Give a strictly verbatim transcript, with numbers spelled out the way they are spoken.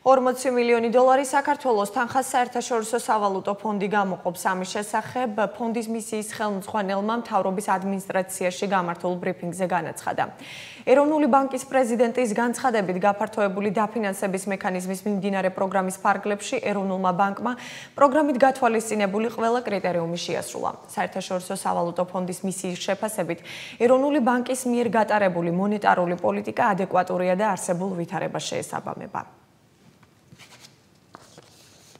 ორმოცი მილიონი დოლარი საქართველოს თანხას საერთაშორისო სავალუტო ფონდი გამოყოფს. ამის შესახებ ფონდის მისიის ხელმძღვანელმა მთავრობის ადმინისტრაციაში გამართულ ბრიფინგზე განაცხადა. ეროვნული ბანკის პრეზიდენტის განცხადებით გაფართოებული დაფინანსების მექანიზმის მიმდინარე პროგრამის ფარგლებში ეროვნულმა ბანკმა პროგრამით გათვალისწინებული ყველა კრიტერიუმი შეასრულა. საერთაშორისო სავალუტო ფონდის მისიის შეფასებით ეროვნული ბანკის მიერ გატარებული მონეტარული პოლიტიკა ადეკვატურია და არსებულ ვითარებას შეესაბამება.